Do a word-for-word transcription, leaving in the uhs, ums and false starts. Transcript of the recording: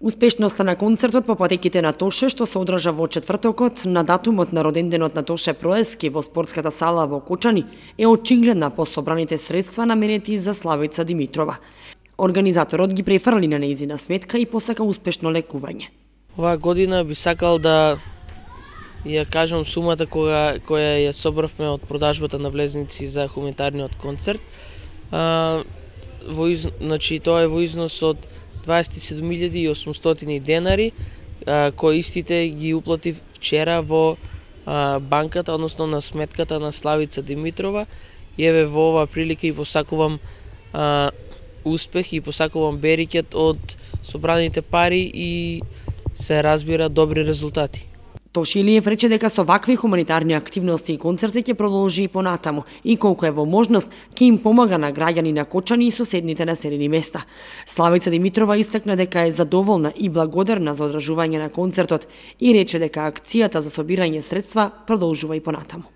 Успешноста на концертот по патеките на Тоше, што се одржа во четвртокот на датумот на роденденот на Тоше Проески во спортската сала во Кочани, е очигледна по собраните средства наменети за Славица Димитрова. Организаторот ги префрли на нејзина сметка и посака успешно лекување. Оваа година би сакал да ја кажам сумата која, која ја собравме од продажбата на влезници за хуманитарниот концерт. А, во из... значи, тоа е во износ од дваесет и седум илјади и осумстотини денари, а, кои истите ги уплатив вчера во а, банката, односно на сметката на Славица Димитрова. И еве во оваа прилика и посакувам а, успех и посакувам берикет од собраните пари и се разбира добри резултати. Тошилиев рече дека со вакви хуманитарни активности и концерти ќе продолжи и понатаму и колку е во можност ќе им помага на граѓани на Кочани и соседните населени места. Славица Димитрова истакна дека е задоволна и благодарна за одржување на концертот и рече дека акцијата за собирање средства продолжува и понатаму.